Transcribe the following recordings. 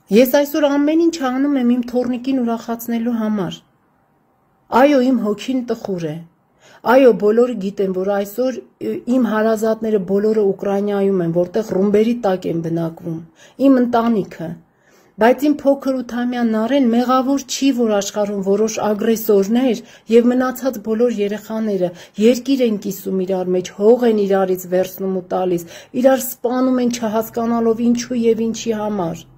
Ես այսօր ամեն ինչ անում եմ իմ թոռնիկին ուրախացնելու համար։ Այո, իմ հոգին տխուր է։ Այո, բոլորը գիտեն, որ այսօր իմ հարազատները բոլորը Ուկրաինայում են, որտեղ ռումբերի տակ են բնակվում, իմ ընտանիքը։ Բայց իմ փոքր 8-ամյա Նարեն մեղավոր չի, որ աշխարհում որոշ ագրեսորներ եւ մնացած բոլոր երեխաները երկիր են կիսում իրար մեջ, հող են իրարից վերցնում ու տալիս, իրար սպանում են չհասկանալով ինչու եւ ինչի համար։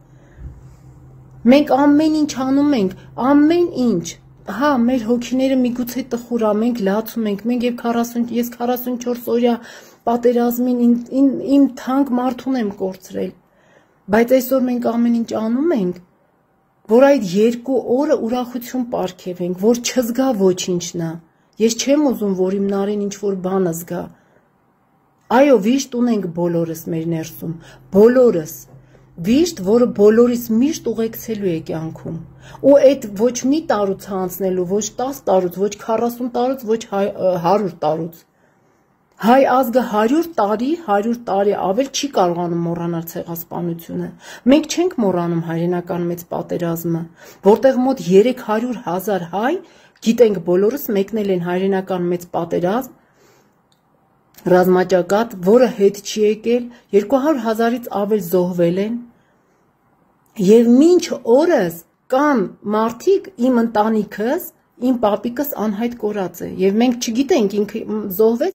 Մենք ամեն ինչ անում ենք, ամեն ինչ։ Հա, մեր հոգիները միգուցե տխուր է, մենք լացում ենք, մենք ես 44 օրյա պատերազմին իմ թանկ մարդուն եմ կորցրել։ Բայց այսօր մենք ամեն ինչ անում ենք, որ այդ 2 օրը ուրախություն պարգևենք, որ չզգա ոչինչնա։ Ես չեմ ուզում, որ իմ Նարին ինչ-որ բանը զգա։ Այո, վիշտ ունենք բոլորս մեր ներսում, բոլորս։ Վիշտ, որը բոլորիս միշտ ուղեկցելու է կյանքում։ Ու այդ ոչ մի տարուց անցնելու, ոչ 10 տարուց, ոչ 40 տարուց, ոչ 100 տարուց։ Հայ ազգը 100 տարի ավել չի կարողանում մոռանալ ցեղասպանությունը։ Մենք չենք մոռանում հայրենական մեծ պատերազմը, որտեղ մոտ 300,000 հայ, գիտենք բոլորս, մեկնել են հայրենական մեծ պատերազմ, ռազմաճակատ, որը հետ չի եկել, 200,000-ից ավել զոհվել են, եւ մինչ օրս կան մարդիկ, իմ ընտանիքս, իմ պապիկս անհայտ կորած է, եւ մենք չգիտենք ինքը զոհվեց